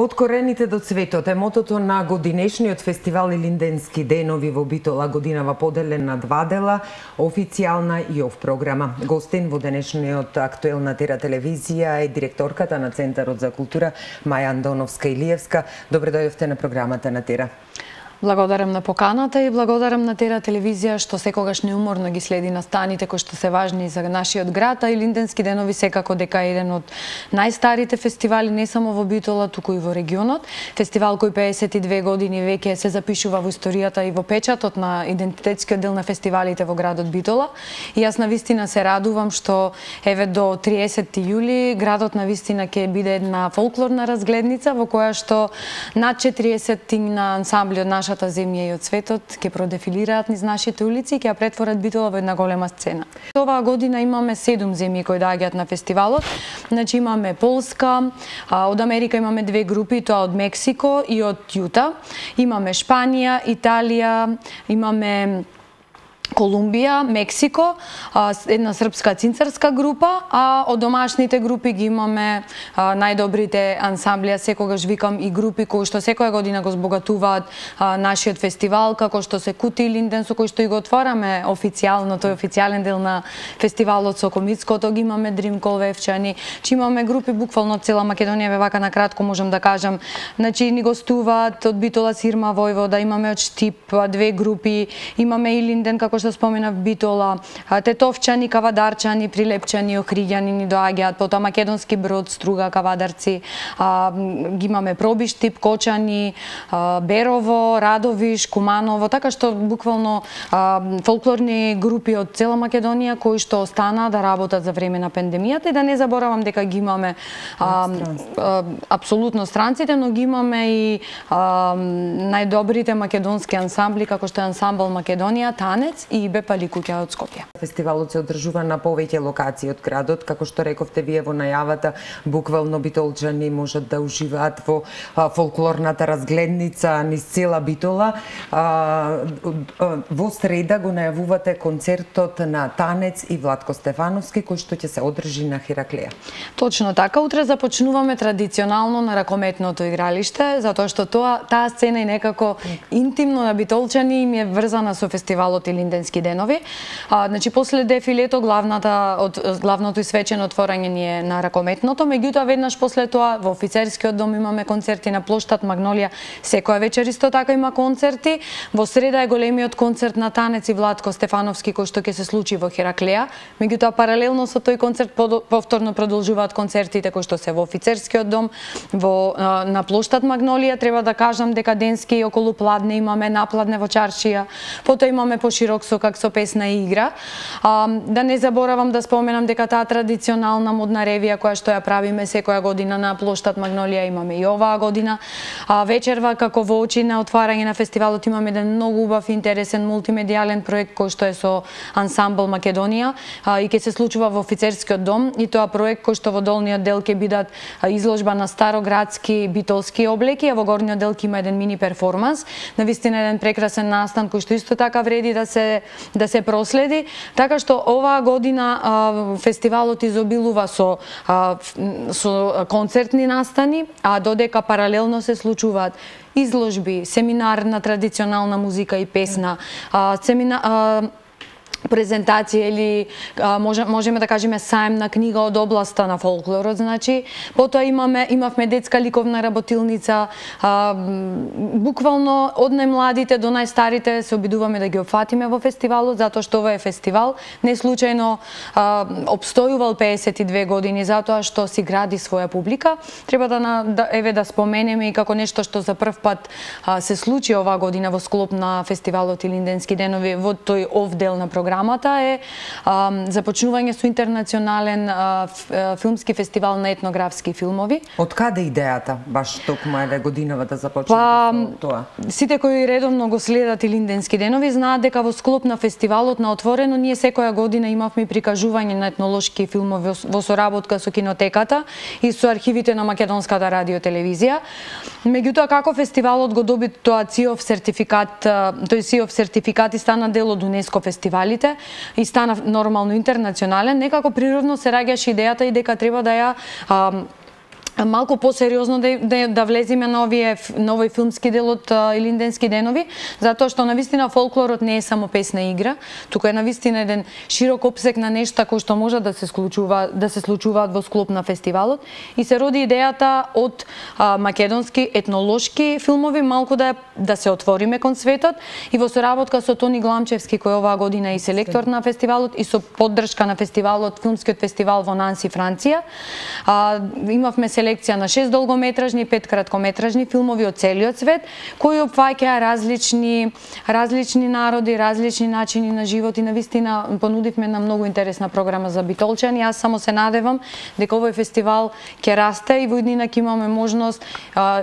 Од корените до цветот е мотото на годинешниот фестивал Илинденски денови во Битола, годинава поделен на два дела, официјална и оф програма. Гостин во денешниот актуелна Тера телевизија е директорката на Центарот за култура Маја Андоновска-Илиевска. Добре дојдовте на програмата на Тера. Благодарам на поканата и благодарам на Тера телевизија што секогаш неуморно ги следи настаните кои што се важни за нашиот град, а Илинденски денови секако дека е еден од најстарите фестивали не само во Битола, туку и во регионот. Фестивал кој 52 години веќе се запишува во историјата и во печатот на идентитетскиот дел на фестивалите во градот Битола. И јас навистина се радувам што еве до 30 јули градот навистина ќе биде една фолклорна разгледница во која што над 40 на ансамбли од нашата земја и од светот ќе продефилираат низ нашите улици и ќе ја претворат Битола во една голема сцена. Оваа година имаме 7 земји кои доаѓаат на фестивалот. Значи имаме Полска, од Америка имаме 2 групи, тоа од Мексико и од Јута. Имаме Шпанија, Италија, имаме Колумбија, Мексико, една српска цинцарска група, а од домашните групи ги имаме најдобрите ансамбли. Секогаш викам и групи кои што секоја година го збогатуваат нашиот фестивал, како што се Кути Илинден, со кој што и го отвараме официјално, тој официјален дел на фестивалот со Комицкото, ги имаме Дрим Колвевчани, че имаме групи буквално од цела Македонија, вака на кратко можам да кажам. Значи ни гостуваат од Битола Сирма Војвода, имаме од Штип 2 групи, имаме Илинден како што споменав Битола, Тетовчани, Кавадарчани, Прилепчани, Охриѓани ни доаѓаат, потоа Македонски Брод, Струга, Кавадарци, ги имаме Пробиштип, Кочани, Берово, Радовиш, Куманово, така што буквално фолклорни групи од цела Македонија кои што остана да работат за време на пандемијата и да не заборавам дека ги имаме апсолутно странците, но ги имаме и најдобрите македонски ансамбли како што е ансамбл Македонија, Танец и Бепали куќа од Скопје. Фестивалот се одржува на повеќе локации од градот, како што рековте вие во најавата, буквално битолчани можат да уживаат во фолклорната разгледница низ цела Битола. Во среда го најавувате концертот на Танец и Владко Стефановски кој што ќе се одржи на Хераклеја. Точно така, утре започнуваме традиционално на ракометното игралиште, затоа што таа сцена е некако интимно на битолчани им е врзана со фестивалот Илинденски денови. Значи после дефилето главното и свечено отворање ни е на ракометното, меѓутоа веднаш после тоа во офицерскиот дом имаме концерти на плоштад Магнолија, секоја вечер исто така има концерти. Во среда е големиот концерт на Танец и Владко Стефановски кој што ќе се случи во Хераклеја, меѓутоа паралелно со тој концерт повторно продолжуваат концертите кои што се во офицерскиот дом, на плоштад Магнолија. Треба да кажам дека денски околу Пладне имаме Напладне во Чаршија, потоа имаме поширок сокак со песна и игра. Да не заборавам да споменам дека таа традиционална модна ревија која што ја правиме секоја година на плоштад Магнолија имаме и оваа година. Вечерва како во очи на отварање на фестивалот имаме еден многу убав интересен мултимедијален проект кој што е со ансамбл Македонија и ќе се случува во офицерскиот дом и тоа проект кој што во долниот дел ќе бидат изложба на староградски битолски облеки, а во горниот дел ќе има еден мини перформанс. Навистина еден прекрасен настан кој што исто така вреди да се проследи, така што оваа година фестивалот изобилува со концертни настани, а додека паралелно се случуваат изложби, семинар на традиционална музика и песна, презентација или можеме да кажеме саем на книга од областа на фолклорот, значи потоа имавме детска ликовна работилница, буквално од најмладите до најстарите се обидуваме да ги опфатиме во фестивалот, затоа што ова е фестивал не случајно опстојувал 52 години затоа што си гради своја публика. Треба да споменеме и како нешто што за прв пат се случи оваа година во склоп на фестивалот Илинденски денови во тој ов дел на програмата е започнување со интернационален филмски фестивал на етнографски филмови. Од каде идејата баш токму еве годинава да започнете со тоа? Сите кои редовно го следат Илинденски денови знаат дека во склоп на фестивалот на отворено ние секоја година имавме прикажување на етнолошки филмови во соработка со кинотеката и со архивите на Македонската радиотелевизија. Меѓутоа како фестивалот го доби тој ЦИОВ сертификат и стана дел од УНЕСКО фестивалите, медиумите и стана нормално интернационален, некако природно се раѓаше идејата и дека треба да ја малку посериозно да влеземе на овој филмски дел од Илинденски денови, затоа што навистина фолклорот не е само песна и игра, туку е навистина еден широк опсек на нешта кои што може да се случуваат во склоп на фестивалот, и се роди идејата од македонски етнолошки филмови малку да се отвориме кон светот, и во соработка со Тони Гламчевски, кој оваа година е и селектор на фестивалот, и со поддршка на фестивалот, филмскиот фестивал во Нанси, Франција, имавме селекција на 6 долгометражни и 5 краткометражни филмови од целиот свет, кои опфаќаа различни народи, различни начини на живот, и навистина понудивме една многу интересна програма за битолчани. Јас само се надевам дека овој фестивал ќе расте и во иднина ќе имаме можност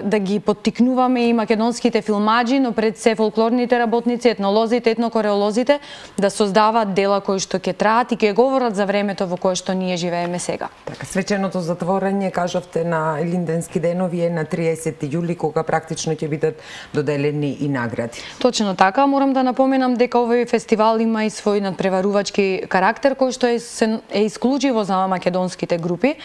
да ги поттикнуваме и македонските филмаџи, но пред се фолклорните работници, етнолозите, етнокореолозите да создаваат дела кои што ќе траат и ќе говорат за времето во кое што ние живееме сега. Така, свеченото затворање, кажавте, на Илинденски денови е на 30 јули, кога практично ќе бидат доделени и награди. Точно така, морам да напоменам дека овој фестивал има и свој надпреварувачки карактер кој што е исклучиво за македонските групи.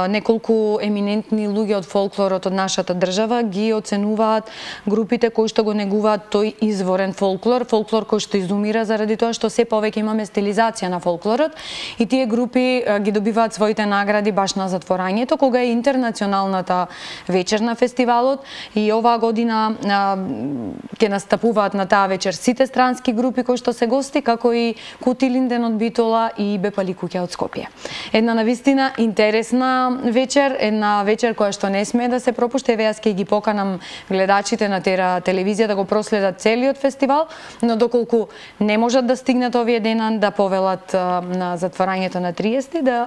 Неколку еминентни луѓе од фолклорот од нашата држава ги оценуваат групите кои што го негуваат тој изворен фолклор кој што изумира заради тоа што се повеќе имаме стилизација на фолклорот, и тие групи ги добиваат своите награди баш на затворањето, кога е интернационалната вечер на фестивалот, и оваа година ќе настапуваат на таа вечер сите странски групи кои што се гости, како и Кути Линден од Битола и Бепали Куќа од Скопје. Една навистина интересна вечер, една вечер која што не смее да се пропушти. Еве, јас ќе ги поканам гледачите на Тера телевизија да го проследат целиот фестивал, но доколку не можат да стигнат овие денан да повелат на затворањето на 30,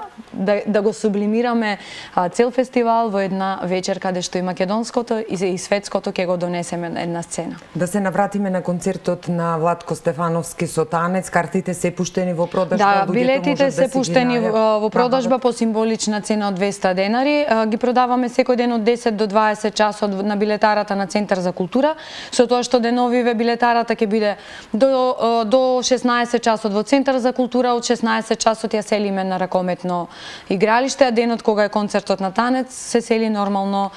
да го сублимираме цел фестивал во една вечер каде што и македонското и светското ќе го донесеме на една сцена. Да се навратиме на концертот на Владко Стефановски со танец. Картите се пуштени во продажба. Да, билетите се пуштени во продажба по символична цена од 200 денари. Ги продаваме секој ден од 10 до 20 часот на билетарата на Центар за култура, со тоа што деновиве билетарата ќе биде до 16 часот во Центар за култура, од 16 часот ја селиме на ракометно игралиште, а денот кога е концертот на танец се сели нормално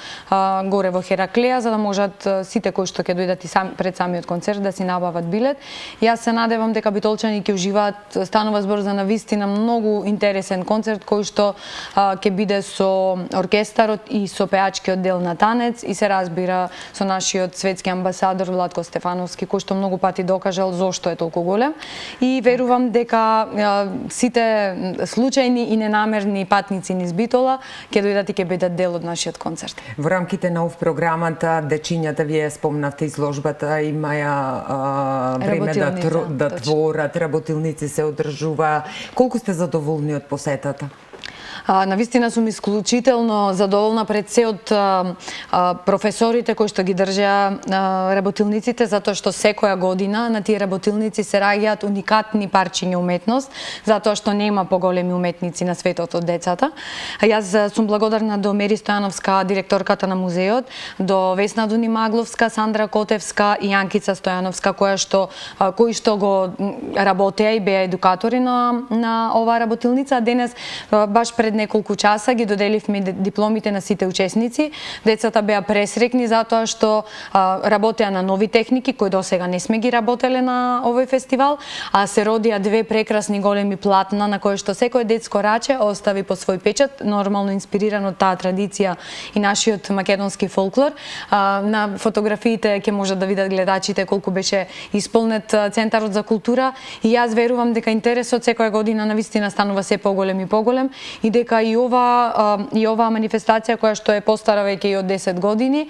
горе во Хераклеја, за да можат сите кои што ќе дојдат и пред самиот концерт да си набават билет. Јас се надевам дека битолчани ќе уживаат. Станува збор за навистина многу интересен концерт кој што ќе биде со оркестарот и со пеачкиот дел на танец, и се разбира со нашиот светски амбасадор Владко Стефановски, кој што многу пати докажал зошто е толку голем, и верувам дека сите случајни и ненамерни патници низ Битола ќе дојдат и ќе бидат дел од нашиот концерт. Во рамките на програмата дечињата, вие спомнавте изложбата, имаја време да творат, работилници се одржува. Колку сте задоволни од посетата? Навистина сум исклучително задоволна пред се од професорите кои што ги држеа работилниците, затоа што секоја година на тие работилници се раѓаат уникатни парчиња уметност, затоа што нема поголеми уметници на светот од децата. Јас сум благодарна до Мери Стојановска, директорката на музеот, до Весна Дунимагловска, Сандра Котевска и Јанкица Стојановска, кои што го работеа и беа едукатори на оваа работилница. Денес баш пред неколку часа ги доделивме дипломите на сите учесници. Децата беа пресрекни затоа што работеа на нови техники кои досега не сме ги работеле на овој фестивал, а се родија две прекрасни големи платна на кои што секој детско раче остави по свој печат, нормално инспириран од таа традиција и нашиот македонски фолклор. На фотографиите ќе можат да видат гледачите колку беше исполнет Центарот за култура, и јас верувам дека интересот секоја година навистина станува се поголем и поголем, и дека и оваа манифестација која што е постара веќе и од 10 години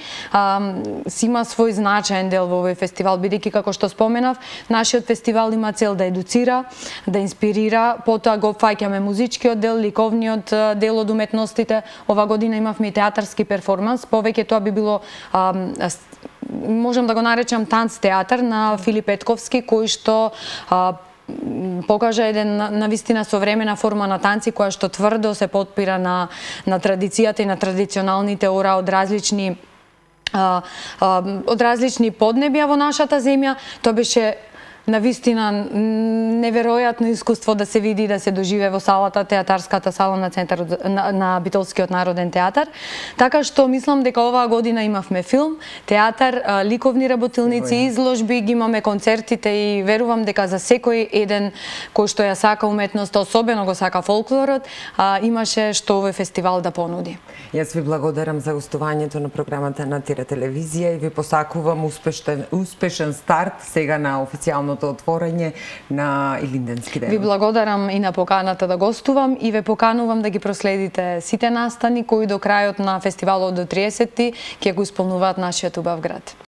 си има свој значаен дел во овој фестивал, бидејќи како што споменав, нашиот фестивал има цел да едуцира, да инспирира, потоа го фаќаме музичкиот дел, ликовниот дел од уметностите. Ова година имавме и театарски перформанс, повеќе тоа би било можам да го наречам танц театар на Филип Петковски, кој што покажа еден навистина современа форма на танци која што тврдо се потпира на традицијата и на традиционалните ора од различни поднебја во нашата земја. Тоа беше На вистина неверојатно искуство да се види и да се доживе во салата, театарската сала на центарот на Битолскиот народен театар. Така што мислам дека оваа година имавме филм, театар, ликовни работилници, изложби, ги имаме концертите и верувам дека за секој еден кој што ја сака уметноста, особено го сака фолклорот, имаше што овој фестивал да понуди. Јас ви благодарам за гостувањето на програмата на Тира телевизија и ви посакувам успешен старт сега на официјалното отворање на Илинденски денови. Ви благодарам и на поканата да гостувам и ве поканувам да ги проследите сите настани кои до крајот на фестивалот до 30-ти ќе го исполнуваат нашиот убав град.